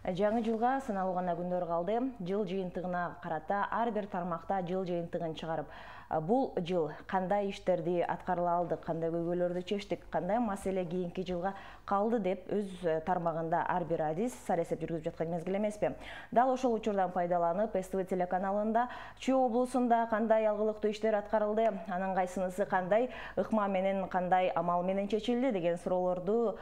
Жаңы жылга саналуу гана күндөр калды. Жыл жыйынтыгына карата ар бир тармакта жыл жыйынтыгын чыгарып, бул жыл кандай иштерди аткарыла алдык, кандай көйгөйлөрдү чечтик, кандай маселе кийинки жылга калды деп өз тармагында ар бир адис сарасеп жүргүзүп жаткан мезгил эмеспи. Дал ошол учурдан пайдаланып, СТВ телеканалында Чүй облусунда кандай алгылыктуу иштер аткарылды, анын кайсынысы кандай ыкма менен, кандай амал менен чечилди деген суроолорду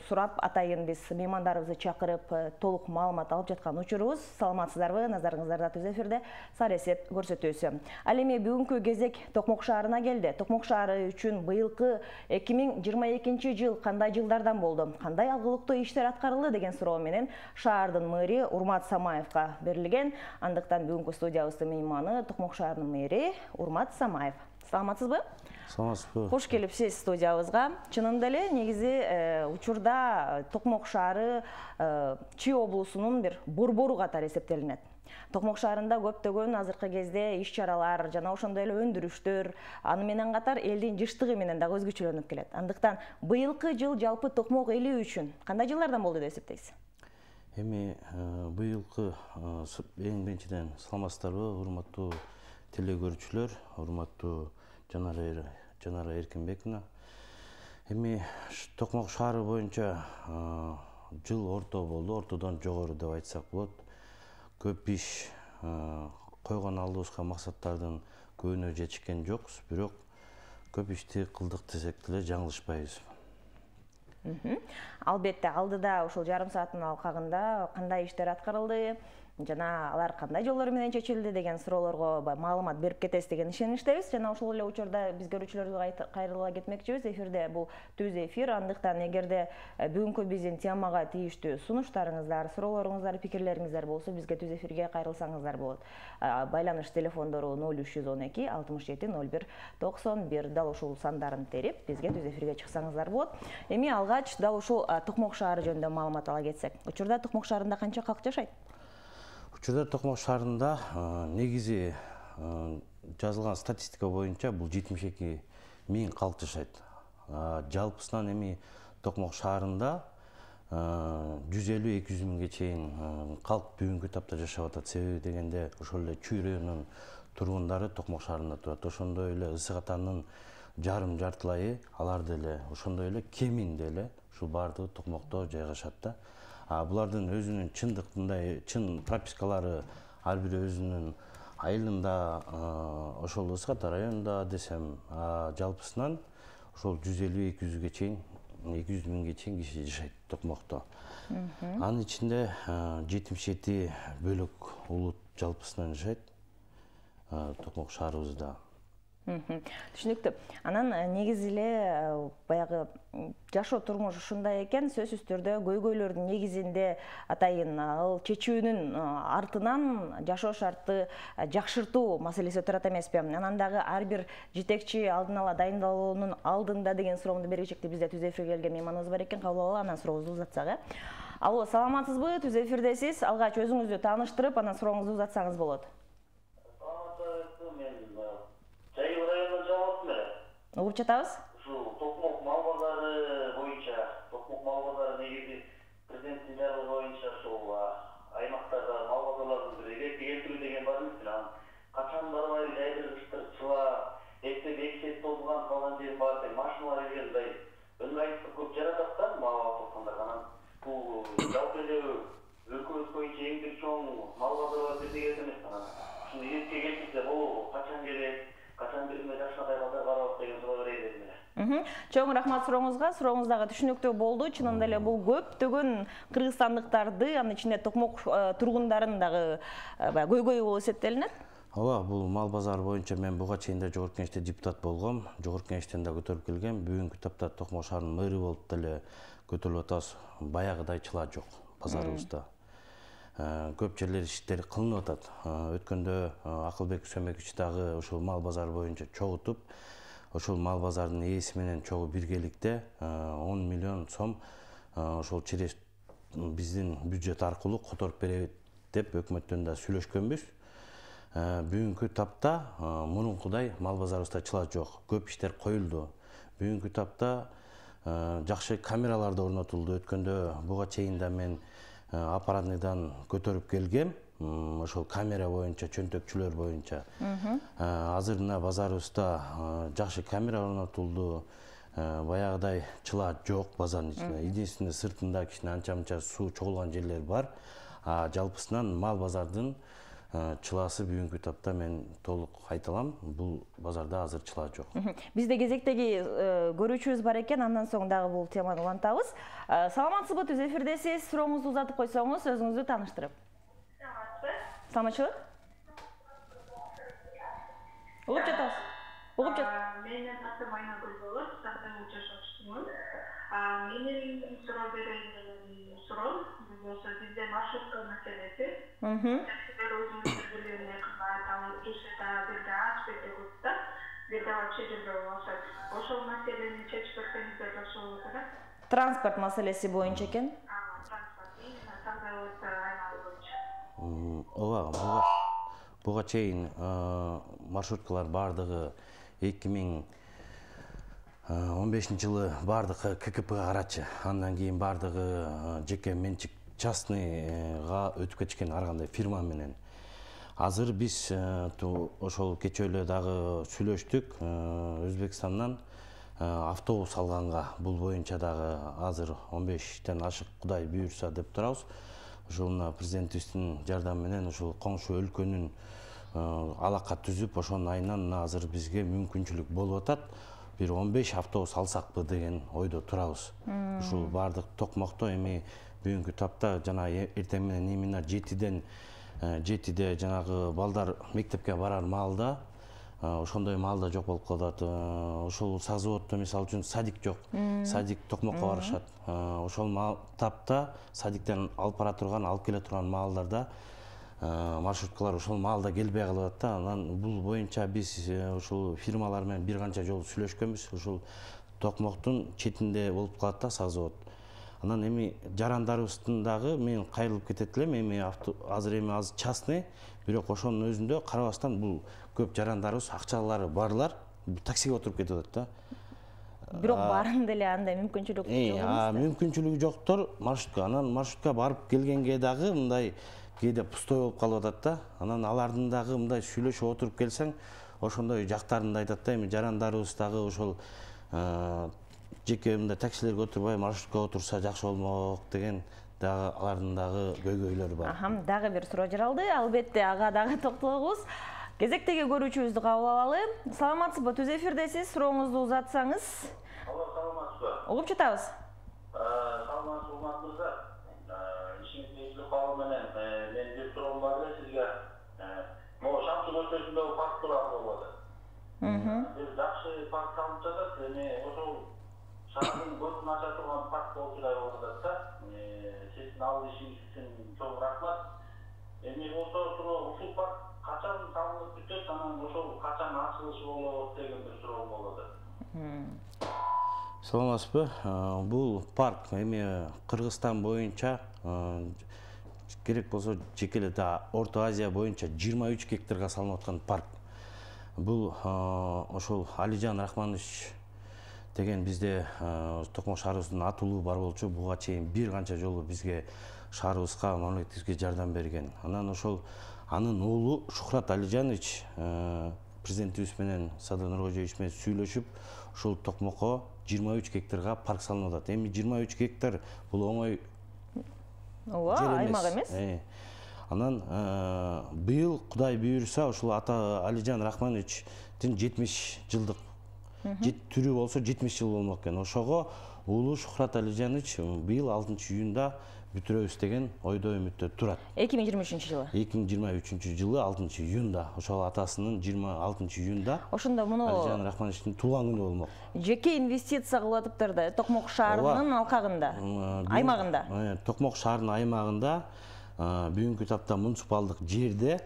сурап атайын биз меймандарыбызды чакырып толук маалымат алып жаткан учурубуз. Саламатсыздарбы? Назарыңыздарда түз эфирде сарасеп көрсөтүүсү. Ал эми бүгүнкү кезек Токмок шаарына келди. Токмок шаары үчүн быйылкы 2022 жыл кандай жылдардан болду, кандай алгылыктуу иштер аткарылды деген суроо менен шаардын мэри Урмат Самаевга берилген. Андыктан бүгүнкү студиябыздын мейманы Токмок шаарынын мэри Урмат Самаев. Саламатсызбы? Саламатсызбы. Кош келипсиз студиябызга. Чынында эле негизи учурда Токмок шаары Чүй облусунун бир борбору катары эсептелинет. Токмок шаарында көптөгөн азыркы кезде иш-чаралар жана ошондой эле өндүрүштөр, аны менен катар элдин жыштыгы менен дагы өзгөчөлөнүп келет. Андыктан быйылкы жыл жалпы Токмок эли үчүн кандай жылдардан болду деп эсептейсиз? Эми быйылкы эң биринчиден саламатсыздарбы, урматтуу телекөрүүчүлөр, урматтуу Жанара Эркинбековна. Эми Токмок шаары боюнча жыл орто болду, ортодон жогору деп айтсак болот. Көп иш койгон алдыбызга максаттардын көбүнө жетишкен жокпуз, бирок көп ишти кылдык десек деле жаңылышпайбыз. Албетте, алдыда ушул жарым сааттын алкагында кандай иштер аткарылды, жана алар кандай жолдор менен чечилди деген суроолорго маалымат берип кетесиз деген ишеничтебиз. Жана ошол эле учурда биз көрүүчүлөргө кайрыла кетмекчибиз. Эфирде бул түз эфир. Андыктан эгерде бүгүнкү биздин темага тийиштүү сунуштарыңыздар, суроолоруңуздар, пикирлериңиздер болсо, бизге түз эфирге кайрылсаңыздар болот. Байланыш телефондору 0312 67 01 91. Дал ушул сандарын терип, бизге түз эфирге чыксаңыздар болот. Эми алгач дал ушул Токмок шаары жөнүндө маалымат ала кетсек. Учурда Токмок шаарында канча калк жашайт? Учурда Токмок шаарында негизи жазылган статистика боюнча бул 72 000 калк жашайт. Жалпысынан эми Токмок шаарында 150-200 миңге чейин калк бүгүнкү тапта жашап атат. Себеби дегенде ошол эле Чүй районунун тургундары Токмок шаарында турат. Ошондой эле Ысык Атанын жартылайы алар деле, ошондой эле кеминде эле ушул баардыгы Токмокто жайгашат да. Булардын өзүнүн чын пропискалары ар бири өзүнүн айылында, ошол Ысык Ата районунда десем, жалпысынан ошол 150-200 чейин, 200 миңге чейин киши жашайт Токмокто. Анын ичинде 77 бөлөк улут жалпысынан жашайт Токмок шаарыбызда. Түшүнүктүү. Анан негизи эле баягы жашоо турмуш ушундай экен, сөзсүз түрдө көйгөйлөрдүн негизинде атайын ал чечүүнүн артынан жашоо шартты жакшыртуу маселеси отурат эмеспи? Анан дагы ар бир жетекчи алдын ала дайындалуунун алдында деген суроомду бергичекти бизде түз эфирге келген мейманыбыз бар экен, кабыл алалы, анан сурообузду узатсак. Алло, саламатсызбы? Түз эфирдесиз. Алгач өзүңүздү тааныштырып, анан сурооңузду узатсаңыз болот. Угуп жатабыз? Ушул Токмок мал базары боюнча, Токмок мал базары негизи президенттин жарлыгы боюнча ушул аймактарда мал базарларын ретке келтирүү деген бар эмес. Качан барбай жайдыр кыштырчыла, эптеп толган калган жер бар экен, машиналар келгендай ыңгайсыздык көп жаратат да мал тоткондар. Анан бул жалпы эле өлкөбүз боюнча эң бир чоң мал базарлар бирдей эмес. Анан ушуну ретке келтирсе болобу, качан келет? Качан биринде жакшынакай базар каралат деген суроо берейин эле. Чоң рахмат сурооңузга. Сурооңуз дагы түшүнүктүү болду. Чынында эле бул көптөгөн кыргызстандыктарды, анын ичинде Токмок тургундарын дагы көйгөйү болуп эсептелинет. Ооба, бул мал базары боюнча мен буга чейин да жогорку кеңеште депутат болгом. Жогорку кеңештен да көтөрүп келгем. Бүгүнкү тапта Токмок шаарынын мэри болуп деле көтөрүлүп атабыз. Баягыдайчыла жок базарыбызда. Көп жерлер иштер кылынып атат. Өткөндө Акылбек Сөмекович дагы ушул мал базары боюнча чогултуп, ошол мал базарынын ээси менен чогуу биргеликте 10 миллион сом ошол через биздин бюджет аркылуу которуп беребиз деп өкмөттөн да сүйлөшкөнбүз. Бүгүнкү тапта мурункудай мал базарыбызда чыла жок. Көп иштер коюлду. Бүгүнкү тапта жакшы камералар да орнотулду. Өткөндө буга чейин да мен аппаратныйдан көтөрүп келгем. Ошол камера боюнча, чөнтөкчүлөр боюнча. Азыр мына базарыбызда жакшы камера орнотулду. Баягыдай чыла жок базардын ичинде. Единственный сыртында кичине анча-мынча суу чогулган жерлер бар. Жалпысынан мал базардын чыласы бүгүнкү тапта мен толук айта алам, бул базарда азыр чыла жок. Бизде кезектеги көрүүчүбүз бар экен, андан соң дагы бул теманы улантабыз. Саламатсызбы, түз эфирдесиз. Сурооңузду узатып койсоңуз, өзүңүздү тааныштырып. Саламатчылык. Угуп жатабыз. Угуп жат. Менин атым Айнагүл болот, Сактан жашоочусумун. Менин суроо берген суроом болсо бизде маршрутка маселеси. Таксилер өзүңүздөр билгендей кызмат Русияда бирде аспекте көп да, бирде вообще жүрбөй болушат. Ошол маселени чечип берсеңиздер жакшы болот эле. Транспорт маселеси боюнча экен. Транспорт именно Сагдайлык аймагы боюнча. Ооба, буга чейин маршруткалар бардыгы 2015-жылы бардыгы ККП карачы. Андан кийин бардыгы жеке менчик частныйга өтүп кетишкен ар кандай фирма менен. Азыр биз ошол кечээ эле дагы сүйлөштүк. Өзбекстандан автобус алганга бул боюнча дагы азыр 15тен ашык Кудай буйрса деп турабыз. Ошол президентибиздин жардамы менен ошол коңшу өлкөнүн алака түзүп, ошонун айынан азыр бизге мүмкүнчүлүк болуп атат. Бир 15 автобус алсакпы деген ойдо турабыз. Ушул бардык Токмокто эми бүгүнкү тапта жана эртең менен именно 7де жанагы балдар мектепке барар маалда ошондой маалда жок болуп калат. Ошол Сазоводдо мисалы үчүн садик жок. Садик Токмокко барышат. Ошол тапта садиктен алып бара турган, алып келе турган маалдарда маршруткалар ошол маалда келбей калат да. Анан бул боюнча биз ошол фирмалар менен бир канча жолу сүйлөшкөнбүз. Ошол Токмоктун четинде болуп калат да Сазовод. Анан эми жарандарыбыздын дагы мен кайрылып кетет элем. Эми азыр частный, бирок ошонун өзүндө карабастан бул көп жарандарыбыз акчалары барлар таксиге отуруп кетип атат да. Бирок барын деле андай мүмкүнчүлүк жок эмес. Мүмкүнчүлүгү жоктор маршрутка. Анан маршрутка барып келгенге дагы мындай кээде пустой болуп калып атат да. Анан алардын дагы мындай сүйлөшүп отуруп келсең, ошондой жактарында айтат да, эми жарандарыбыз дагы ошол жеке мындай таксилерге отурбай маршрутка отурса жакшы болмок деген дагы алардын дагы көйгөйлөрү бар. Дагы бир суроо жаралды. Албетте ага дагы токтолобуз. Кезектеги көрүүчүбүздү кабыл алалы. Саламатсызбы, түз эфирдесиз. Сурооңузду узатсаңыз. Алло, саламатсызбы. Угуп жатабыз. Саламатсыз мырза. Ишиңиздин кабыл менен мен бир суроом бар эле сизге. Могу Шамсун өлкөсүндөгү парк тууралуу болот. Бир жакшы парк салынып жатат. Эми ошол шаардын көзүн ача турган парк болчудай болуп атат да. Сиздин ал ишиңиз үчүн чоң рахмат. Эми болсо ушул парк качан салынып бүтөт, анан ошол качан ачылышы болот деген бир суроом болот. Саламатсызбы? Бул парк эми Кыргызстан боюнча керек болсо жеке эле Орто Азия боюнча 23 гектарга салынып аткан парк. Бул ошол Алижан Рахманович деген бизде Токмок шаарыбыздын атуулуу бар болчу. Буга чейин бир канча жолу бизге шаарыбызга, мамлекетибизге жардам берген. Анан ошол анын уулу Шухрат Алижанович президентибиз менен Садыр Нуркожоевич менен сүйлөшүп, ошол Токмокко 23 гектарга парк салынып атат. Эми 23 гектар бул оңой аймак эмес. Анан быйыл Кудай буйрса ошол ата Алижан Рахмановичтин 70 жылдык түрү болсо 70 жыл болмок экен. Ошого уулу Шухрат Алижанович быйыл 6-июнда бүтүрөбүз деген ойдо үмүттө турат. 2023-жылы. 2023-жылы 6-июнда ошол атасынын 26-июнда ошондо муну Алижан Рахмановичтин туулган күнү болмок. Жеке инвестиция кылып атыптыр да Токмок шаарынын алкагында, аймагында. Токмок шаарынын аймагында бүгүнкү тапта муниципалдык жерде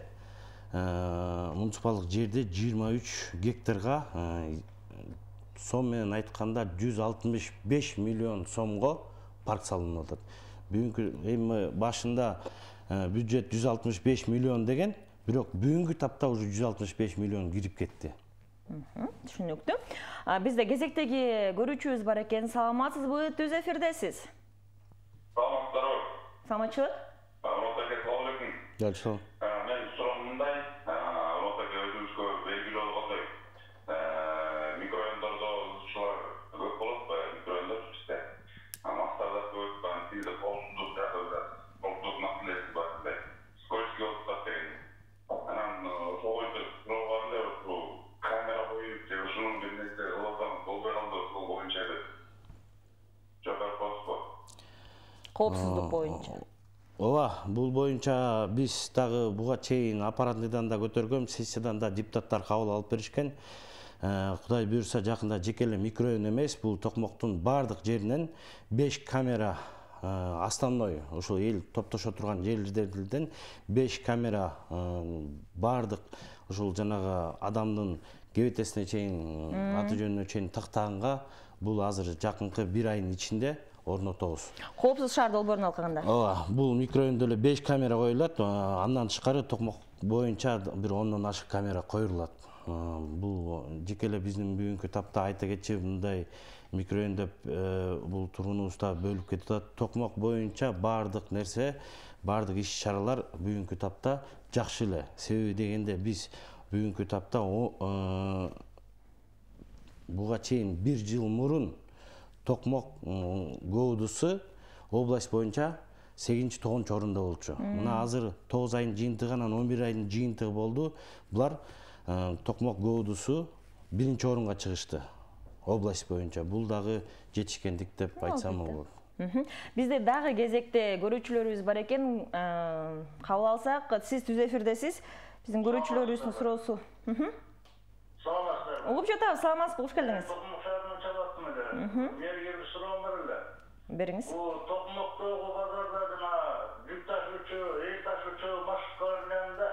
23 гектарга сом менен айтканда 165 миллион сомго парк салынып атат. Бүгүнкү эми башында бюджет 165 миллион деген, бирок бүгүнкү тапта уже 165 миллион кирип кетти. Түшүнүктүү. Бизде кезектеги көрүүчүбүз бар экен. Саламатсызбы, түз эфирдесиз. Саламатчылык. Ротаке, салам алейкум. Жакшы. Мен суроом мындай, Ротаке өзүбүзгө белгилүү болгондой, микрорайондордо ызычуулар көп болот, микрорайондор бизде. Мактарда көп, тилде коопсуздук жагы, коопсуздук маселеси бар, скользкий отуптар деген. Анан ошол боюнча суроо бар эле, камера коюп, же ушунун бир нерсе кылсам болбой калды, ошол боюнча жооп берип коесузбу? Коопсуздук боюнча. Ооба, бул боюнча биз дагы буга чейин аппаратныйдан да көтөргөм, сессиядан да депутаттар кабыл алып беришкен. Кудай буюрса жакында жеке эле микрорайон эмес, бул Токмоктун бардык жеринен 5 камера основной ошол эл топтошо турган жерлерден 5 камера бардык ошол жанагы адамдын кебетесине чейин, аты жөнүнө чейин тактаганга бул азыр жакынкы 1 айдын ичинде орнотобуз. Коопсуз шаар долбоорун алганда. Ооба, бул микрорайондо эле 5 камера коюлат, андан тышкары Токмок боюнча бир 10дон ашык камера коюлат. Бул жеке эле биздин бүгүнкү тапта айта кетчү, мындай микрорайон деп бул тургунубузда бөлүп кетип атат. Токмок боюнча бардык нерсе, бардык иш-чаралар бүгүнкү тапта жакшы эле. Себеби дегенде биз бүгүнкү тапта буга чейин 1 жыл мурун Токмок ГОУДусу область боюнча 8-9 орунда болчу. Мына азыр 9 айдын жыйынтыгы анан 11 айдын жыйынтыгы болду. Булар Токмок ГОУДусу 1 орунга чыгышты. Область боюнча. Бул дагы жетишкендик деп айтсам болот. Бизде дагы кезекте көрүүчүлөрүбүз бар экен. Кабыл алсак, сиз түз эфирдесиз. Биздин көрүүчүлөрүбүздүн суроосу. Саламатсыздар. Угуп жатабыз, саламатсызбы, кош келдиңиз. Токмок шаарынан чалаттым эле. Менин бир суроом бар эле. Бериңиз. Бул Токмоктогу базарда жана жүк ташуучу, эл ташуучу маршруткалар менен да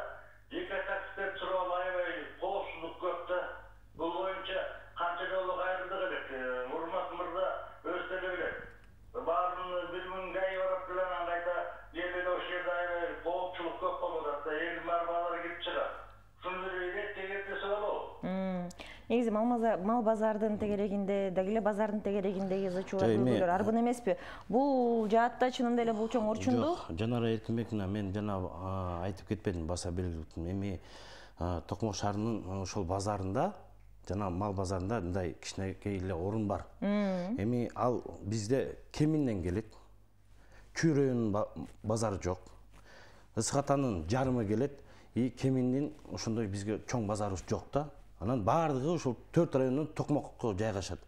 жеке таксистер туруп аябай коопсуздук көп да. Бул боюнча канча жолу кайрылдык элек. Урмат мырза өзү деле билет. Баарын 1000 гай барат деле анан кайта эле ошол жерде аябай коопчулук көп болуп атат да. Эл баары кирип чыгат. Шуну бир эртеге болобу? Негизи мал базардын тегерегинде, дагы эле базардын тегерегиндеги ызычуулар көбүлөр арбын эмеспи? Бул жаатта чынында эле бул чоң орчунду? Жок, Жанара Эркинбековна, мен жана айтып кетпедим, баса белгилеттим. Эми Токмок шаарынын ошол базарында, жана мал базарында мындай кичинекей эле орун бар. Эми ал бизде кеминден келет. Чүй районунун базары жок. Ысык-Атанын жарымы келет. Кеминдин ошондой бизге чоң базарыбыз жок да. Анан бардыгы ошол 4 райондон Токмокко жайгашат.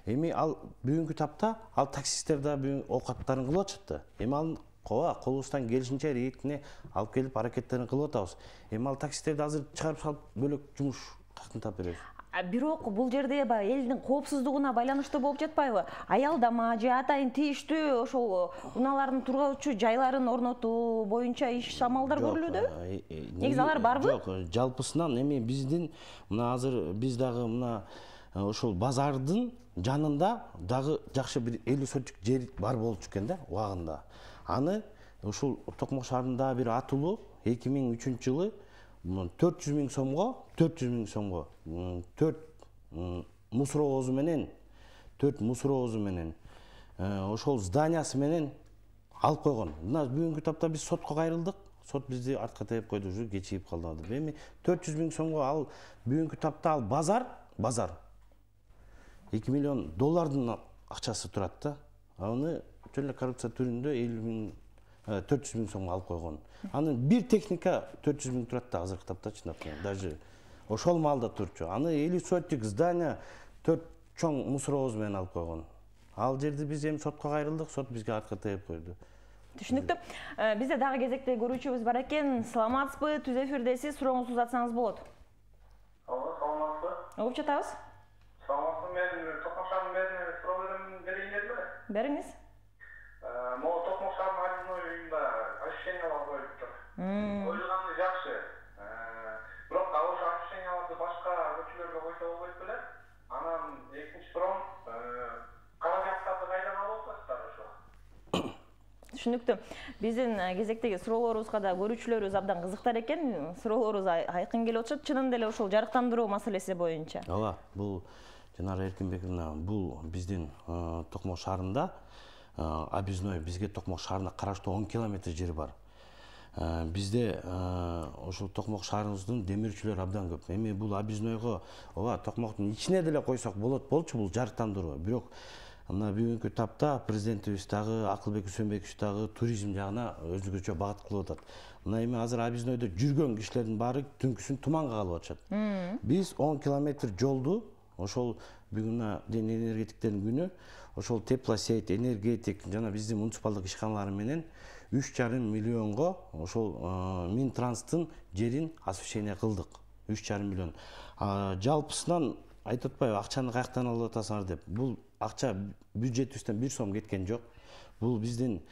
Эми ал бүгүнкү тапта ал таксисттер да оокаттарын кылып атышат да. Эми ал колубуздан келишинче рейдине алып келип аракеттерин кылып атабыз. Эми ал таксисттерди азыр чыгарып салып бөлөк жумуш кантип таап беребиз? Бирок бул жерде элдин коопсуздугуна байланыштуу болуп жатпайбы? Аялдама же атайын тийиштүү ошол унаалардын тургуучу жайларын орнотуу боюнча иш амалдар көрүлүүдө? Негизи алар барбы? Жок, жалпысынан эми биздин мына азыр биз дагы мына ошол базардын жанында дагы жакшы бир 50 сотик жер бар болчу экен да, убагында. Аны ошол Токмок шаарында бир атылуу 2003 жылы 400 000 сомго 4 мусоровозу менен ошол зданиясы менен алып койгон. Мына бүгүнкү тапта биз сотко кайрылдык. Сот бизди артка тээп койду, уже кечигип калды. Эми 400 000 сомго ал бүгүнкү тапта ал базар $2 миллион акчасы турат да. Аны чөй эле коррупция түрүндө 400 000 сомго алып койгон. Анын бир техника 400 000 турат да азыркы тапта, чындап даже ошол маалда турчу. Аны 50 сотик здания 4 чоң мусоровоз менен алып койгон. Ал жерди биз эми сотко кайрылдык, сот бизге артка тээп койду. Түшүнүктүү. Бизде дагы кезекте көрүүчүбүз бар экен. Саламатсызбы? Түз эфирдесиз, сурооңузду узатсаңыз болот. Саламатсызбы? Угуп жатабыз. Саламатсызбы, мен Токмок шаарынын мэрine суроо берейин дедим эле. Бериңиз. Могу Токмок шаарынын арызын оюнда ощущениялар коюптур. Ойлогону жакшы. Бирок ошо ощущенияларды башка көчөлөргө койсо болбойт беле? Анан экинчи суроом, каражаттарды кайдан алып атасыздар ошо? Түшүнүктүү. Биздин кезектеги суроолорубузга да көрүүчүлөрүбүз абдан кызыктар экен. Суроолорубуз айкын келип атышат. Чынында эле ошол жарыктандыруу маселеси боюнча. Ооба, бул Жанара Эркинбековна, бул биздин Токмок шаарында объездной бизге Токмок шаарына караштуу 10 километр жери бар. Бизде ошол Токмок шаарыбыздын демирчүлөр абдан көп. Эми бул объезднойго ооба Токмоктун ичине деле койсок болчу бул жарыктандыруу. Бирок мына бүгүнкү тапта президентибиз дагы Акылбек Үсөнбекович дагы туризм жагына өзгөчө багыт кылып атат. Мына эми азыр объезднойдо жүргөн кишилердин баары түнкүсүн туманга калып атышат. Биз 10 километр жолду ошол бүгүн энергетиктердин күнү ошол теплосеть, энергетик жана биздин муниципалдык ишканалары менен 3,5 миллионго ошол Минтранстын жерин освещение кылдык. 3,5 миллион. Жалпысынан айтып атпайбы, акчаны каяктан алып атасыңар деп. Бул акча бюджетибизден 1 сом кеткен жок. Бул биздин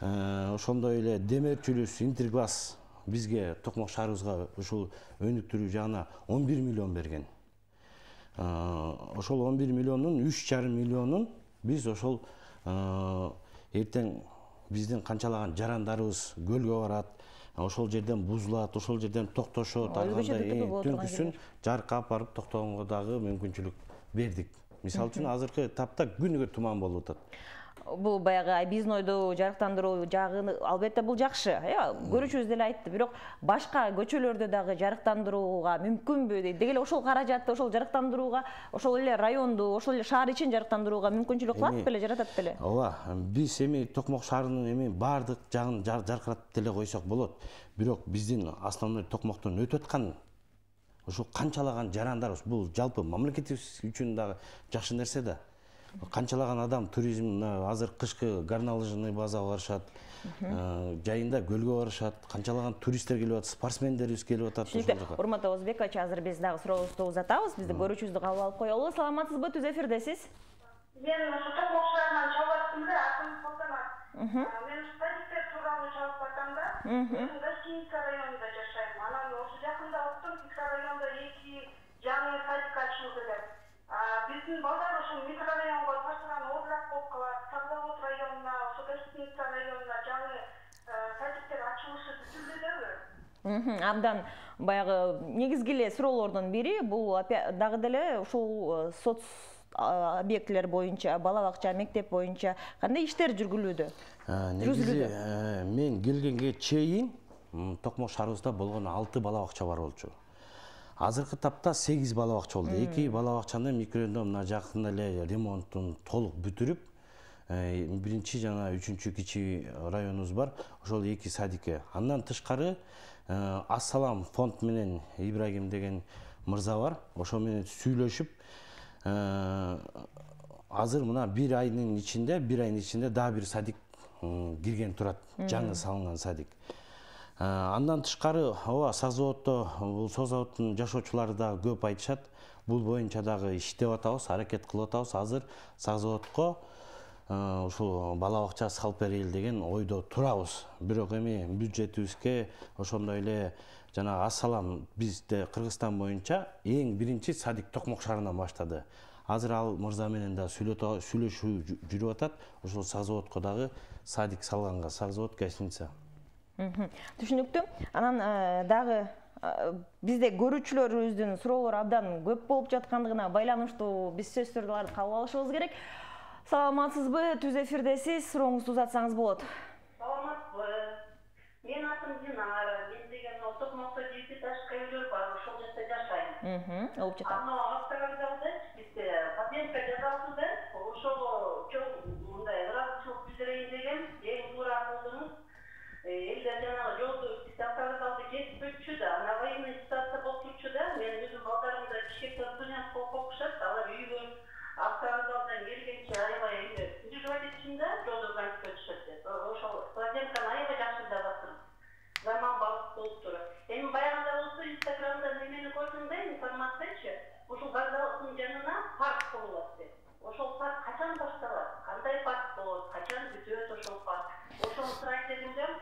ошондой эле демирчүлүс Интерглаз бизге Токмок шаарыбызга ушул өнүктүрүү жагына 11 миллион берген. Ошол 11 миллиондун 3,5 миллионун биз ошол эртең биздин канчалаган жарандарыбыз көлгө барат, ошол жерден бузулат, ошол жерден токтошот, түнкүсүн жарыкка алып барып токтогонго дагы мүмкүнчүлүк бердик. Мисалы үчүн азыркы тапта күнүгө туман болуп атат. Бул баягы объезднойду жарыктандыруу жагы албетте бул жакшы, көрүүчүбүз деле айтты. Бирок башка көчөлөрдү дагы жарыктандырууга мүмкүнбү деги эле ошол каражатты ошол жарыктандырууга, ошол эле районду, ошол эле шаар ичин жарыктандырууга мүмкүнчүлүк кылат беле, жаратат беле? Ооба, биз эми Токмок шаарынын эми баардык жагын жаркыратып деле койсок болот. Бирок биздин основной Токмоктон өтүп аткан ошол канчалаган жарандарыбыз, бул жалпы мамлекетибиз үчүн дагы жакшы нерсе да. Канчалаган адам туризм азыр кышкы горнолыжный базага барышат, жайында көлгө барышат, канчалаган туристтер келип атат, спортсмендерибиз келип атат ошол жака. Урматтуу Озбекович, азыр биз дагы сурообузду узатабыз, бизди көрүүчүбүздү кабыл алып коелу. Саламатсызбы, түз эфирдесиз? Мен ошо Токмок шаарынан чалып аттым да, атым Салтанат. Мен статистика тууралуу чалып бардым да. Мен гостиница районунда жашайм. Анан ошо жакында уктум, микрорайондо 2 жаңы садик ачылды деп. Биздин балдар ошо микрорайонго таштаган оорулак болуп калат. Сагловод районуна, ошо гостиница районуна жаңы садиктер ачылышы күтүлүүдөбү? Абдан баягы негизги эле суроолордун бири бул дагы деле ушул соц объектилер боюнча, бала бакча, мектеп боюнча кандай иштер жүргүлүүдө? Негизи мен келгенге чейин Токмок шаарыбызда болгон 6 бала бакча бар болчу. Азыркы тапта 8 бала бакча болду. 2 бала бакчаны микрорайондо мына жакында эле ремонтун толук бүтүрүп, биринчи жана 3-чү кичи районубуз бар. Ошол 2 садикке. Андан тышкары Ассалам фонд менен Ибрагим деген мырза бар. Ошол менен сүйлөшүп, азыр мына 1 айдын ичинде дагы бир садик кирген турат. Жаңы салынган садик. Андан тышкары ооба Сагзаводдо бул Созаводдун жашоочулары да көп айтышат. Бул боюнча дагы иштеп атабыз, аракет кылып атабыз. Азыр Сагзаводко ушул бала бакча салып берели деген ойдо турабыз. Бирок эми бюджетибизге ошондой эле жана Ассалам бизде Кыргызстан боюнча эң биринчи садик Токмок шаарынан баштады. Азыр ал мырза менен да сүйлөшүү жүрүп атат. Ошол Сагзаводко дагы садик салганга, Сагзавод гостиница. Түшүнүктүү. Анан дагы бизде көрүүчүлөрүбүздүн суроолору абдан көп болуп жаткандыгына байланыштуу биз сөздөрдү кабыл алышыбыз керек. Саламатсызбы, түз эфирдесиз, сурооңузду узатсаңыз болот. Саламатсызбы. Мен атым Динара. Мен деген Токмокто 7 этажка үйлөр бар, ошол жерде жашайм. Болуп жатат. Автовокзалда бизде подъемка жасалды да, ошол чоң мындай градусчулук билдирейин деген, эң туура кылдыңыз. Элдер жанагы жолду автовокзалды кесип өтчү да, ана военный ситуация болуп турчу да, мен өзүм балдарымды Бишкекте студент болуп окушат, алар үйгө автовокзалдан келгенче аябай эле переживать этишин да, жолду кантип өтүшөт деп. Ошол подъемканы аябай жакшы жасап атыр. Заман балык болуп турат. Эми баягында болсо Инстаграмда немени көрдүм да, информациячы, ушул вокзалдын жанына парк курулат деп. Ошол парк качан башталат? Кандай парк болот? Качан бүтөт ошол парк? Ошону сурайт дедим да.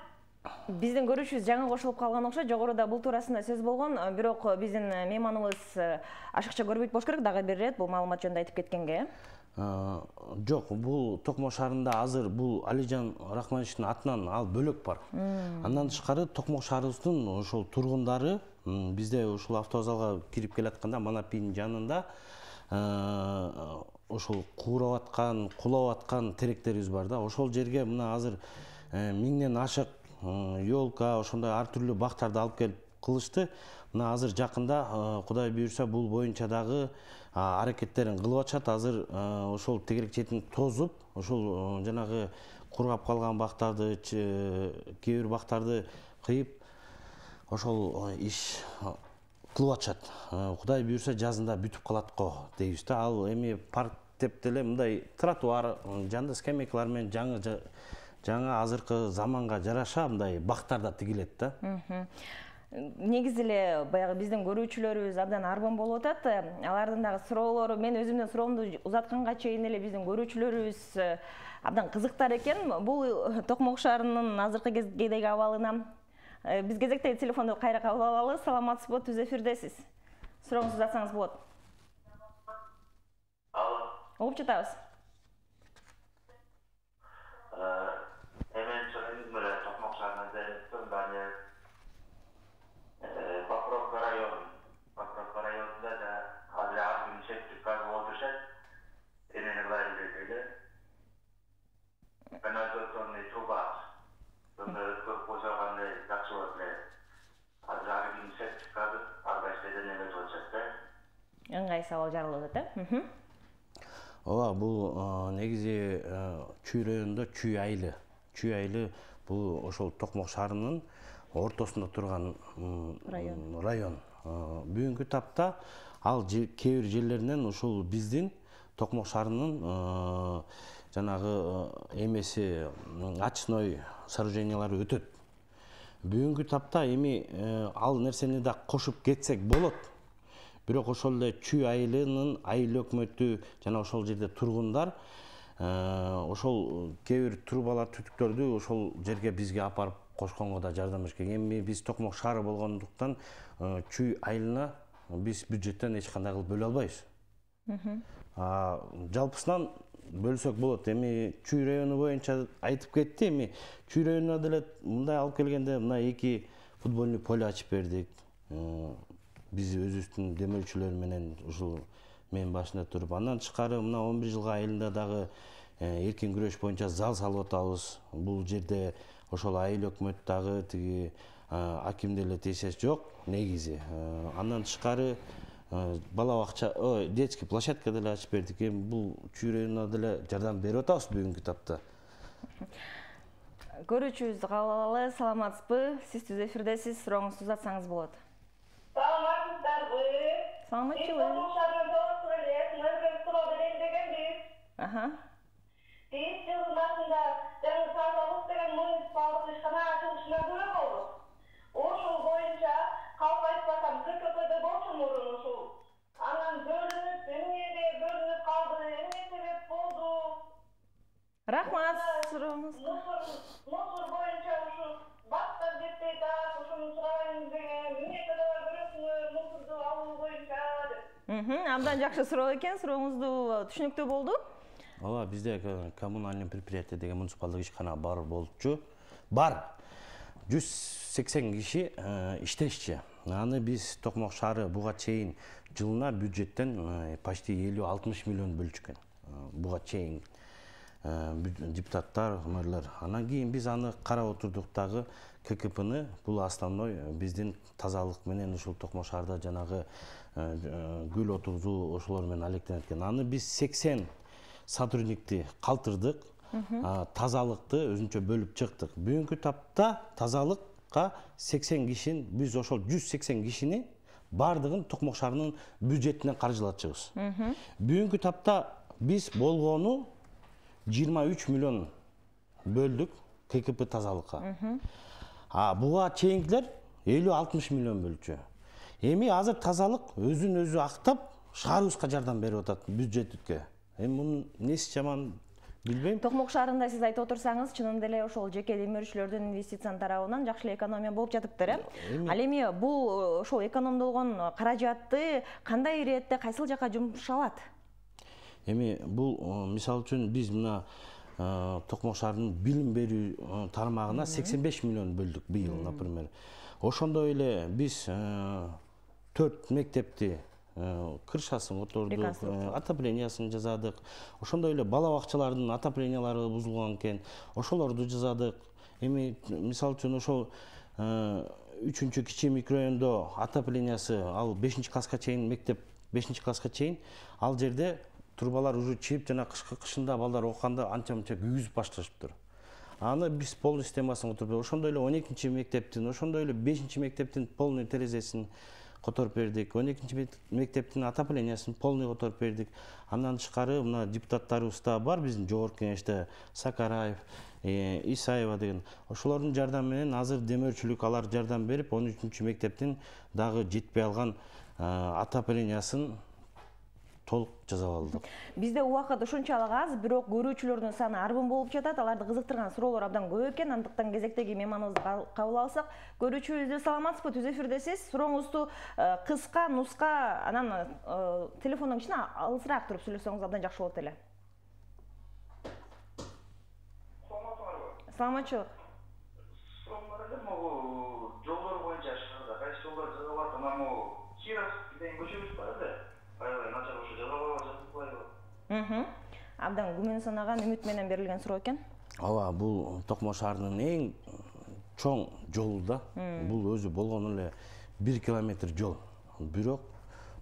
Биздин көрүүчүбүз жаңы кошулуп калган окшойт. Жогоруда бул туурасында сөз болгон, бирок биздин мейманыбыз ашыкча көрбөйт болуш керек, дагы бир ирет бул маалымат жөнүндө айтып кеткенге. Жок, бул Токмок шаарында азыр бул Алижан Рахмановичтин атынан ал бөлөк бар. Андан тышкары Токмок шаарыбыздын ошол тургундары бизде ушул автовокзалга кирип келатканда Манапинин жанында ошол куурап аткан, кулап аткан теректерибиз бар да. Ошол жерге мына азыр 1000ден ашык ёлка, ошондой ар түрдүү бактарды алып келип кылышты. Мына азыр жакында Кудай буйрса бул боюнча дагы аракеттерин кылып атышат. Азыр ошол тегерек четин тозуп, ошол жанагы кургап калган бактарды, кээ бир бактарды кыйып, ошол иш кылып атышат. Кудай буйрса жазында бүтүп калат го дейбиз да. Ал эми парк деп деле мындай тротуар, жанды скамейкалар менен жаңы азыркы заманга жараша мындай бактар да тигилет да. Негизи эле баягы биздин көрүүчүлөрүбүз абдан арбан болуп атат. Алардын дагы суроолору, мен өзүмдүн суроомду узатканга чейин эле биздин көрүүчүлөрүбүз абдан кызыктар экен. Бул Токмок шаарынын азыркы кездеги абалына биз кезектеги телефонду кайра кабыл алалы. Саламатсызбы, түз эфирдесиз. Сурооңузду узатсаңыз болот. Алло. Угуп жатабыз. Мен чыгым менен Токмок шаарына келиптим. Баны Покровка районунда да азыр ар септик газ болуп жатат. Эмне кылайын дегенде канализационный труба өткөрүп койсо кандай жакшы болот эле. Азыр ар септик газ ар кайсы жерден эметип атышат да. Ыңгай сабал жарылып атат, э? Ооба, бул негизи Чүй районунда Чүй айылы бул ошол Токмок шаарынын ортосунда турган район. Бүгүнкү тапта ал кээ бир жерлеринен ушул биздин Токмок шаарынын жанагы эмеси очной сооружениялары өтөт. Бүгүнкү тапта эми ал нерсени да кошуп кетсек болот. Бирок ошол эле Чүй айылынын айыл өкмөтү жана ошол жерде тургундар ошол кээ бир трубалар, түтүктөрдү ошол жерге бизге апарып кошконго да жардам беришкен. Эми биз Токмок шаары болгондуктан Чүй айылына биз бюджеттен эч кандай кылып бөлө албайбыз. Жалпысынан бөлсөк болот. Эми Чүй району боюнча айтып кетти. Эми Чүй районуна деле мындай алып келгенде мына 2 футбольный поле ачып бердик. Биз өзүбүздүн демөөлчүлөр менен ушул мен башында туруп, андан тышкары мына 11 жылга айылында дагы эркин күрөш боюнча зал салып атабыз. Бул жерде ошол айыл өкмөт дагы тиги аким деле тиешеси жок негизи. Андан тышкары бала бакча, детский площадка деле ачып бердик. Эми бул Чүй районуна деле жардам берип атабыз бүгүнкү тапта. Көрүүчүбүздү кабыл алалы. Саламатсызбы? Сиз түз эфирдесиз. Сурооңузду узатсаңыз болот. Саламатсыздарбы? Саламатчылык. Биз жылдын башында жаңы тазалык деген муниципалдык ишкана ачылышына көрө болдук. Ошол боюнча калп айтпасам ККПде болчу мурун ушул. Анан бөлүнүп, эмнеге бөлүнүп калды, эмне себеп болду? Рахмат, сурооңуз. Мусор боюнча ушул бактар жетпей атат, ошону сурайын деген, эмне кылып көрөсүңөр мусорду алуу боюнча деп. Абдан жакшы суроо экен, сурооңузду түшүнүктүү болду. Ооба, бизде коммунальный предприятие деген муниципалдык ишкана бар болчу. Бар. 180 киши иштешчи. Аны биз Токмок шаары буга чейин жылына бюджеттен почти 50-60 миллион бөлчүкөн. Буга чейин депутаттар, мэрлер. Анан кийин биз аны карап отурдук дагы ККПны, бул основной биздин тазалык менен ушул Токмок шаарда жанагы гүл отуруу ошолор менен алектенет экен. Аны биз 80 сотрудникти калтырдык, тазалыкты өзүнчө бөлүп чыктык. Бүгүнкү тапта тазалыкка 80 кишини, биз ошол 180 кишини бардыгын Токмок шаарынын бюджетинен каржылатчыбыз. Бүгүнкү тапта биз болгону 23 миллион бөлдүк ККП тазалыкка. Буга чейинкилер 50-60 миллион бөлчү. Эми азыр тазалык өзүн өзү актап шаарыбызга жардам берип атат бюджетке. Эми мунун неси жаман билбейм. Токмок шаарында сиз айтып отурсаңыз, чынында эле ошол жеке демөөрчүлөрдүн инвестициянын тарабынан жакшы эле экономия болуп жатыптыр, Ал эми бул ошол экономдолгон каражатты кандай иретте кайсыл жака жумшалат? Эми бул мисалы үчүн биз мына Токмок шаарынын билим берүү тармагына 85 миллион бөлдүк быйыл, например. Ошондой эле биз 4 мектепти крышасын котордук, отоплениясын жасадык. Ошондой эле бала бакчалардын отоплениялары бузулган экен, ошолорду жасадык. Эми мисалы үчүн ошол 3-чү кичи микрорайондо отоплениясы ал 5-класска чейин мектеп 5-класска чейин ал жерде турбалар уже чип жана кышында балдар окуганда анча-мынча күйгүзүп башташыптыр. Аны биз полный системасын которуп, ошондой эле 12-чи мектептин, ошондой эле 5-чи мектептин полный терезесин которуп бердик. 12-чи мектептин отоплениясын полный которуп бердик. Андан тышкары мына депутаттарыбыз да бар биздин жогорку кеңеште, Сакараев, Исаева деген. Ошолордун жардамы менен азыр демөөрчүлүк алар жардам берип 13-чү мектептин дагы жетпей алган отоплениясын толук жасап алдык. Бизде убакыт ушунчалык аз, бирок көрүүчүлөрдүн саны арбын болуп жатат. Аларды кызыктырган суроолор абдан көп экен. Андыктан кезектеги мейманыбызды кабыл алсак, көрүүчүбүздө саламатсызбы, түз эфирдесиз. Сурооңузду кыска, нуска, анан телефондон кичине алысыраак туруп сүйлөсөңүз абдан жакшы болот эле. Саламатчылык. Суроолор эле могу жолдор боюнча шаарда кайсы жолдор жасалат, анан могу Киров деген көчөбүз бар эле. Аябай начар ошо жасалбайбы? Абдан күмөн санаган, үмүт менен берилген суроо экен. Ооба, бул Токмок шаарынын эң чоң жолу да. Бул өзү болгону эле 1 километр жол. Бирок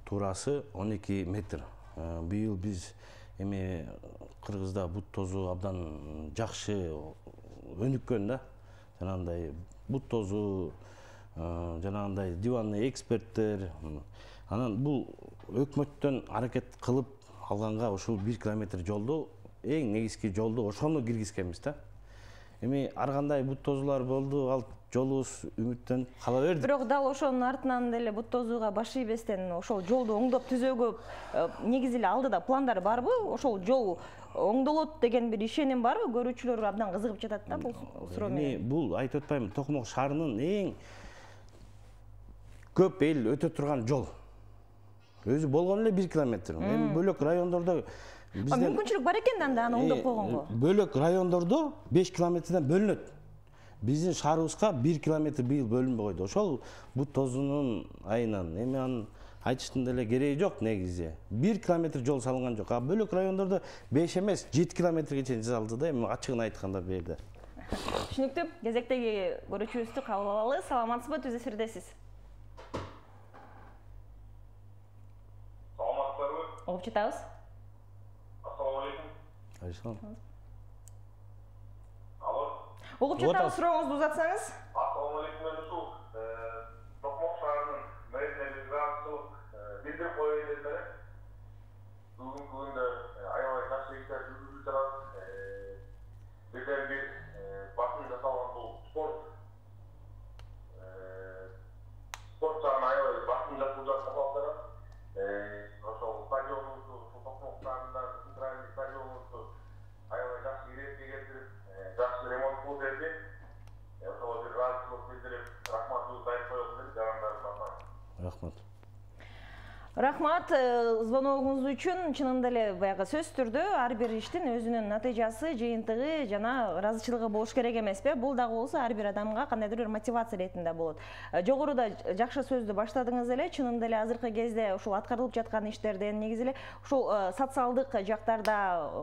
туурасы 12 метр. Быйыл биз эми Кыргызда бут тозуу абдан жакшы өнүккөн да. Жанагындай бут тозуу, жанагындай диванный эксперттер. Анан бул өкмөттөн аракет кылып алганга ушул 1 километр жолду, эң негизги жолду ошону киргизгенбиз да. Эми ар кандай бут тозуулар болду, ал жолубуз үмүттөн кала берди. Бирок дал ошонун артынан деле бут тозууга баш ийбестен ошол жолду оңдоп түзөөгө негизи эле алдыда пландар барбы? Ошол жол оңдолот деген бир ишеним барбы? Көрүүчүлөр абдан кызыгып жатат да бул суроо менен. Эми бул айтып атпаймынбы, Токмок шаарынын эң көп эл өтө турган жол. Өзү болгону эле 1 километр. Эми бөлөк райондордо бизден мүмкүнчүлүк бар экен да аны оңдоп койгонго. Бөлөк райондордо 5 километрден бөлүнөт. Биздин шаарыбызга 1 километр быйыл бөлүнбөй койду. Ошол бут тозуунун айынан. Эми аны айтыштын деле кереги жок негизи. 1 километр жол салынган жок. А бөлөк райондордо 5 эмес 7 километрге чейин жасалды да. Эми ачыгын айтканда бу жерде. Түшүнүктүү. Кезектеги көрүүчүбүздү кабыл алалы. Саламатсызбы, түз эфирдесиз. Оғып жатабыз. Ассаламу алейкум. Алейкум. Алло. Оғып жатабыз, сурооңузду узатсаңыз. Ассаламу алейкум, мен ушул Токмок шаарынын мэріне бир ыраазычылык билдирип коеюн деп эле. Бүгүнкү күндө аябай жакшы иштер жүргүзүлүп жатат. Бирден бир басым жасалган бул спорт жагына аябай басым жасалып жатат. Ошол стадионубузду, Токмок шаарында центральный стадионубузду аябай жакшы иретке келтирип, жакшы ремонт кылып берди. Ошого бир ыраазычылык билдирип, рахматыбызды айтып коелу деп жарандарыбызга. Рахмат. Рахмат звоногуңуз үчүн. Чынында эле баягы сөз түрдө ар бир иштин өзүнүн натыйжасы, жыйынтыгы жана ыраазычылыгы болуш керек эмеспи? Бул дагы болсо ар бир адамга кандайдыр бир мотивация иретинде болот. Жогоруда жакшы сөздү баштадыңыз эле. Чынында эле азыркы кезде ушул аткарылып жаткан иштерден негизи эле ушул социалдык жактарда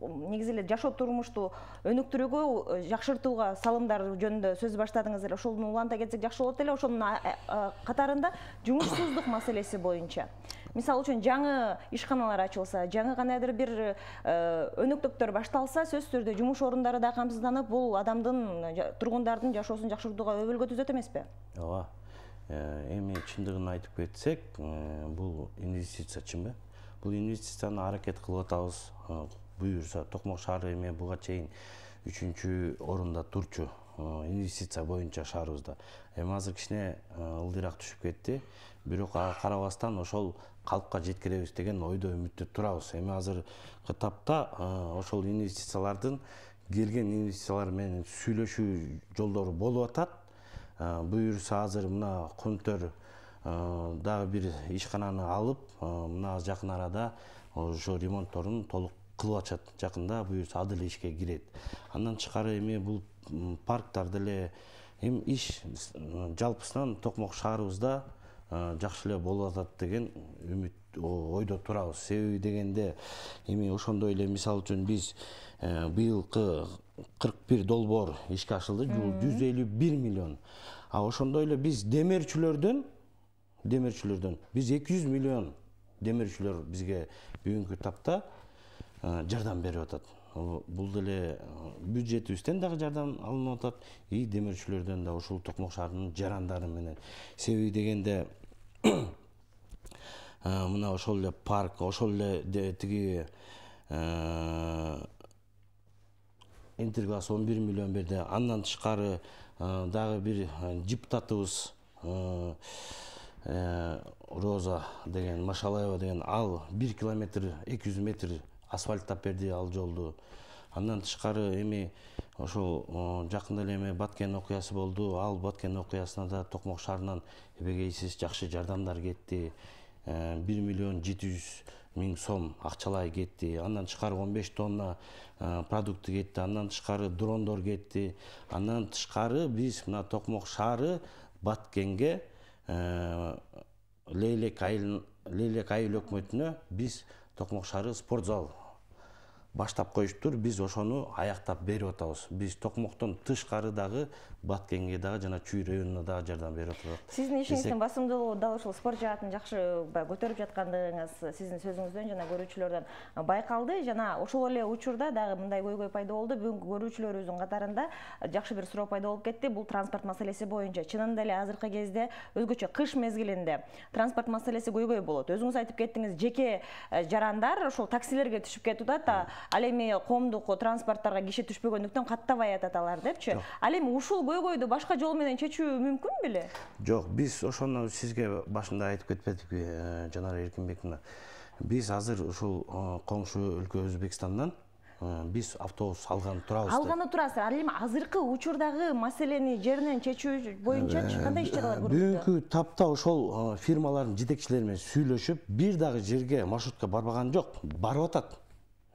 негизи эле жашоо турмушту өнүктүрүүгө, жакшыртууга салымдар жөнүндө сөз баштадыңыз эле. Ошону уланта кетсек жакшы болот эле. Ошонун катарында жумушсуздук маселеси боюнча. Мисалы үчүн жаңы ишканалар ачылса, жаңы кандайдыр бир өнөктүктөр башталса, сөз түрдө жумуш орундары да камсызданып, бул адамдын, тургундардын жашоосун жакшыртууга өбөлгө түзөт эмеспи? Ооба. Эми чындыгын айтып кетсек, бул инвестиция чынбы? Бул инвестицияны аракет кылып атабыз. Буюрса, Токмок шаары эми буга чейин 3-чү орунда турчу инвестиция боюнча шаарыбызда. Эми азыр кичине ылдыйраак түшүп кетти. Бирок ага карабастан ошол калпка жеткиребиз деген ойдо үмүттө турабыз. Эми азыркы тапта ошол инвестициялардын келген инвестициялар менен сүйлөшүү жолдору болуп атат. Буюрса азыр мына Көнтөр дагы бир ишкананы алып, мына жакын арада ошо ремонтторун толук кылып атышат. Жакында буюрса ал деле ишке кирет. Андан тышкары эми бул парктар деле эми иш жалпысынан Токмок шаарыбызда жакшы эле болуп атат деген үмүт ойдо турабыз. Себеби дегенде эми ошондой эле мисалы үчүн биз быйылкы 41 долбоор ишке ашылды, 151 миллион. А ошондой эле биз демирчүлөрдөн биз 200 миллион демирчүлөр бизге бүгүнкү тапта жардам берип атат. Бул деле бюджетибизден дагы жардам алынып атат, и демирчүлөрдөн да ушул Токмок шаарынын жарандары менен. Себеби дегенде мына ошол эле парк, ошол эле тиги Интерглаз 11 миллион берди. Андан тышкары дагы бир депутатыбыз Роза деген, Машалаева деген, ал 1 километр 200 метр асфальттап берди ал жолду. Андан тышкары эми ошол жакында эле эми Баткен окуясы болду. Ал Баткен окуясына да Токмок шаарынан эбегейсиз жакшы жардамдар кетти. 1 миллион 700 миң сом акчалай кетти. Андан тышкары 15 тонна продукты кетти. Андан тышкары дрондор кетти. Андан тышкары биз мына Токмок шаары Баткенге Лейлек айыл өкмөтүнө биз Токмок шаары спорт зал баштап коюштур. Биз ошону аяктап берип атабыз. Биз Токмоктон тышкары дагы Баткенге дагы жана Чүй районуна дагы жардам берип атабыз. Сиздин ишиңиздин басымдуулугу дал ушул спорт жаатын жакшы көтөрүп жаткандыгыңыз сиздин сөзүңүздөн жана көрүүчүлөрдөн байкалды. Жана ошол эле учурда дагы мындай көйгөй пайда болду. Бүгүнкү көрүүчүлөрүбүздүн катарында жакшы бир суроо пайда болуп кетти. Бул транспорт маселеси боюнча. Чынында эле азыркы кезде өзгөчө кыш мезгилинде транспорт маселеси көйгөй болот. Өзүңүз айтып кеттиңиз, жеке жарандар ошол таксилерге түшүп кетип атат. Ал эми коомдук транспорттарга киши түшпөгөндүктөн каттабай атат алар депчи. Ал эми ушул көйгөйдү башка жол менен чечүү мүмкүн беле? Жок, биз ошону сизге башында айтып кетпедикпи, Жанар Эркинбековна. Биз азыр ушул коңшу өлкө Өзбекстандан биз автобус алганы турабыз. Алганы турасыздар. Ал эми азыркы учурдагы маселени жеринен чечүү боюнча кандай иш-чаралар көрүлөт? Бүгүнкү тапта ошол фирмалардын жетекчилери менен сүйлөшүп, бир дагы жерге маршрутка барбаган жок.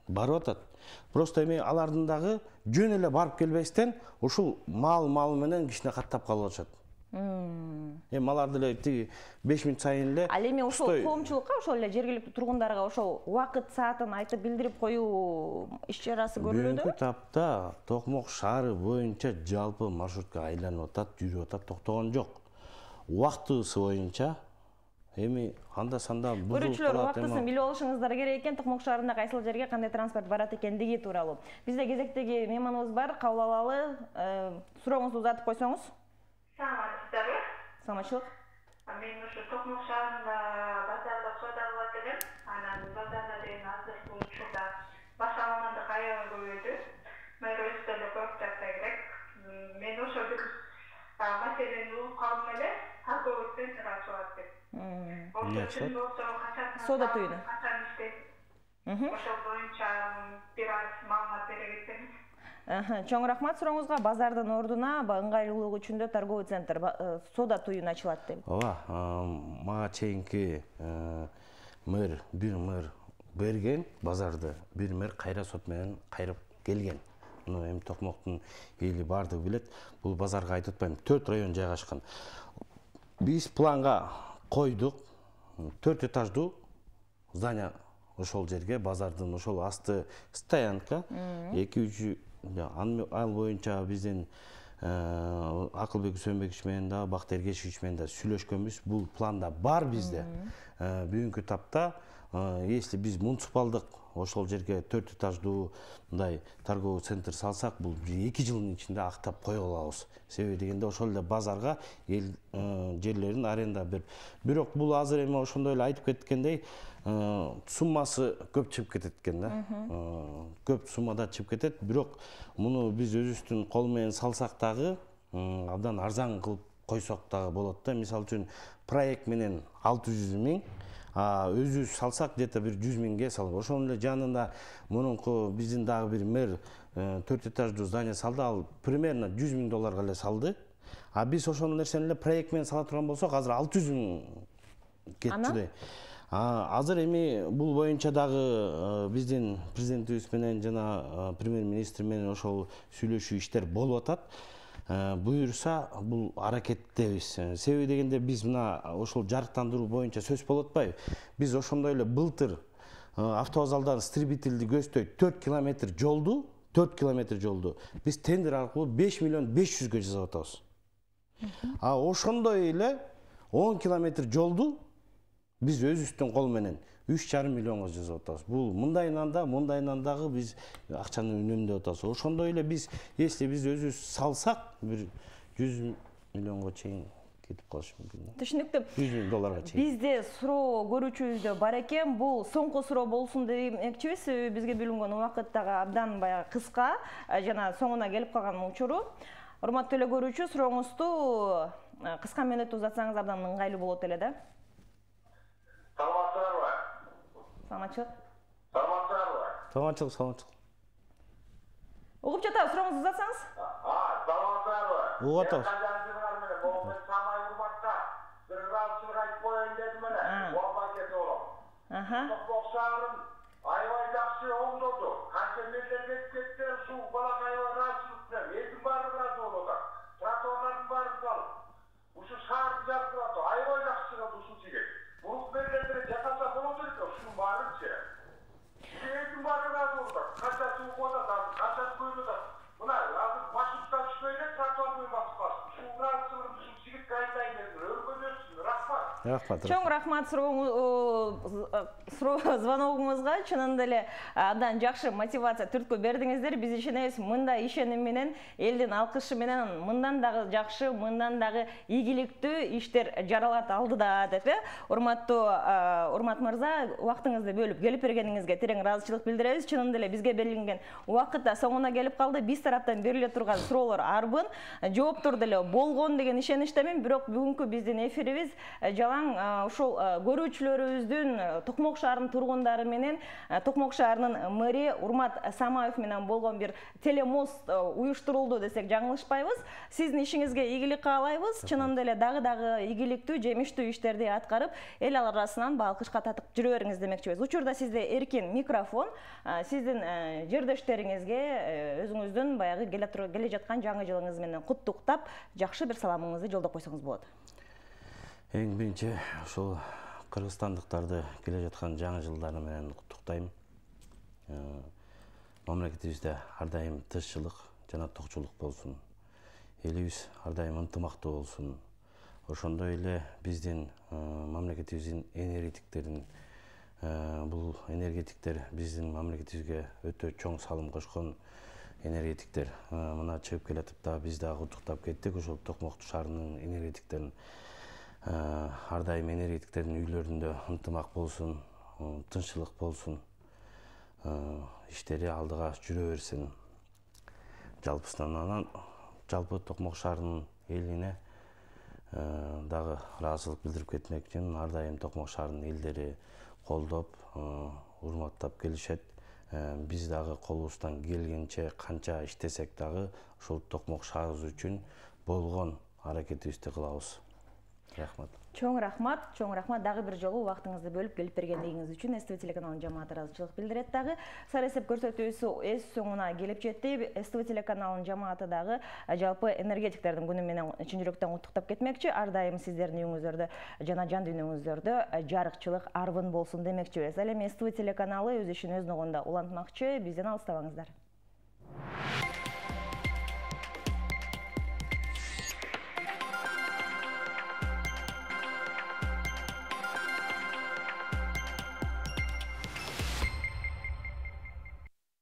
Барып атат. Просто эми алардын дагы жөн эле барып келбестен ушул мал менен кичине каттап калып атышат. Эми алар деле тиги 5 мүнөт сайын эле. Ал эми ошол коомчулукка, ошол эле жергиликтүү тургундарга ошол убакыт саатын айтып билдирип коюу иш-чарасы көрүлөдү. Бүгүнкү тапта Токмок шаары боюнча жалпы маршрутка айланып атат, жүрүп атат, токтогон жок. Убактысы боюнча эми анда-санда көрүүчүлөр убактысын билип алышыңыздар керек экен. Токмок шаарында кайсыл жерге кандай транспорт барат экендиги тууралуу. Бизде кезектеги мейманыбыз бар, кабыл алалы. Сурооңузду узатып койсоңуз. Саламатсыздарбы? Саламатчылык. Мен ушу Токмок шаарында базарда соода кылат элем. Анан базарда деген азыркы учурда баш амандык аябай көбөйдү. Мэр өзү деле көрүп жатса керек. Мен ошо бир маселени угуп калдым эле. Торговый центр ачылат деп. Соода түйүнү. Ошол боюнча бир аз маалымат бере кетсеңиз. Чоң рахмат сурооңузга. Базардын ордуна ыңгайлуулук үчүн да торговый центр, соода түйүн ачылат деп. Ооба, мага чейинки бир мэр берген базарды, бир мэр кайра сот менен кайрып келген. Эми Токмоктун эли бардыгы билет. Бул базарга айтып атпайм, 4 район жайгашкан. Биз планга койдук 4 этаждуу здание ошол жерге, базардын ошол асты стоянка 2-3 ал боюнча биздин Акылбек Үсөнбекович менен да, Бактыер Кечкич менен да сүйлөшкөнбүз. Бул планда бар бизде. Бүгүнкү тапта если биз муниципалдык ошол жерге 4 этаждуу мындай торговый центр салсак, бул 2 жылдын ичинде актап кое алабыз. Себеби дегенде ошол эле базарга эл жерлерин аренда берип. Бирок бул азыр эми ошондой эле айтып кеткендей, суммасы көп чыгып кетет экен да. Көп суммада чыгып кетет. Бирок муну биз өзүбүздүн кол менен салсак дагы абдан арзан кылып койсок дагы болот да. Мисалы үчүн проект менен 600 миң, өзүбүз салсак где-то бир 100 миңге салып. Ошонун эле жанында мурунку биздин дагы бир мэр 4 этаждуу здание салды, ал примерно 100 миң долларга эле салды. А биз ошол нерсени эле проект менен сала турган болсок, азыр 600 миң кетти. Азыр эми бул боюнча дагы биздин президентибиз менен жана премьер-министр менен ошол сүйлөшүү иштер болуп атат. буюрса бул аракеттебиз. Себеби дегенде биз мына ошол жарыктандыруу боюнча сөз болуп атпайбы? Биз ошондой эле былтыр автовокзалдан Стребительди көздөй 4 километр жолду биз тендер аркылуу 5 миллион 500г жасап атабыз. Ошондой эле 10 километр жолду биз өзүбүздүн кол менен 3,5 миллионго жасап атабыз. Бул мындайынан дагы биз акчаны үнөмдөп атабыз. Ошондой эле биз, если биз өзүбүз салсак, бир 100 миллионго чейин кетип калышы мүмкүн. Түшүнүктүү. 100 миң долларга чейин. Бизде суроо көрүүчүбүздө бар экен. Бул соңку суроо болсун демекчибиз. Себеби бизге бөлүнгөн убакыт дагы абдан баягы кыска, жана соңуна келип калган учуру. Урматтуу эле көрүүчү, сурооңузду кыска мөөнөттө узатсаңыз абдан ыңгайлуу болот эле да. Саламатсыздарбы? Саламатчылык. Саламатчылык. Угуп жатабыз, сурооңузду узатсаңыз. Саламатсыздарбы? Угуп атабыз. Токмок шаарын аябай жакшы оңдоду. Канча мерлер кетип кетти, ушул балак аябай ыраазычылык менен элдин баары ыраазы болуп атат. Тротуарлардын баарын салып, ушул шаарды жаркырап атат. Аябай жакшы чыгат ушул жигит. Бурук мерлерде жасаса болот элек, ушунун баарынчы. Элдин баары ыраазы болуп атат. Канча суу атат, канча көйүп атат. Мына азыр маршрутка түшпөй эле тротуар менен басып калсын. Ушул ыраазычылыгын ушул жигитке айтайын дедим. Өргөнөсүн, рахмат. Чоң рахмат звоногуңузга. Чынында эле абдан жакшы мотивация түрткү бердиңиздер. Биз ишенебиз, мындай ишеним менен, элдин алкышы менен мындан дагы жакшы, мындан дагы ийгиликтүү иштер жаралат алдыда деп. Урмат мырза, убактыңызды бөлүп келип бергениңизге терең ыраазычылык билдиребиз. Чынында эле бизге берилген убакыт да соңуна келип калды. Биз тараптан бериле турган суроолор арбын, жооптор деле болгон деген ишеништемин. Бирок бүгүнкү биздин эфирибиз жалаң ушул көрүүчүлөрүбүздүн Токмок шаарынын тургундары менен Токмок шаарынын мэри Урмат Самаев менен болгон бир телемост уюштурулду десек жаңылышпайбыз. Сиздин ишиңизге ийгилик каалайбыз. Чынында эле дагы ийгиликтүү, жемиштүү иштерди аткарып, эл арасынан балкышка татып жүрө бериңиз демекчибиз. Учурда сизде эркин микрофон, сиздин жердештериңизге өзүңүздүн баягы келе жаткан жаңы жылыңыз менен куттуктап, жакшы бир саламыңызды жолдоп койсоңуз болот. Эң биринчи ушул кыргызстандыктарды келе жаткан жаңы жылдары менен куттуктайм. Мамлекетибизде ар дайым тынччылык жана токчулук болсун. Элибиз ар дайым ынтымактуу болсун. Ошондой эле биздин мамлекетибиздин энергетиктерин, бул энергетиктер биздин мамлекетибизге өтө чоң салым кошкон энергетиктер. Мына чыгып келатып да биз дагы куттуктап кеттик ошол Токмок шаарынын энергетиктерин. Ар дайым энергетиктердин үйлөрүндө ынтымак болсун, тынччылык болсун, иштери алдыга жүрө берсин. Жалпысынан анан жалпы Токмок шаарынын элине дагы ыраазычылык билдирип кетмек үчүн ар дайым Токмок шаарынын элдери колдоп, урматтап келишет. Биз дагы колубуздан келгенче канча иштесек дагы ушул Токмок шаарыбыз үчүн болгон аракетибизди кылабыз. Рахмат. Чоң рахмат. Дагы бир жолу убактыңызды бөлүп келип бергендигиңиз үчүн СТВ телеканалынын жамааты ыраазычылык билдирет дагы. Сара эсеп көрсөтүүсү өз соңуна келип жетти. СТВ телеканалынын жамааты дагы жалпы энергетиктердин күнү менен чын жүрөктөн куттуктап кетмекчи. Ар дайым сиздердин үйүңүздөрдө жана жан дүйнөңүздөрдө жарыкчылык арбын болсун демекчибиз. Ал эми СТВ телеканалы өз ишин өз ногунда улантмакчы. Бизден алыстабаңыздар.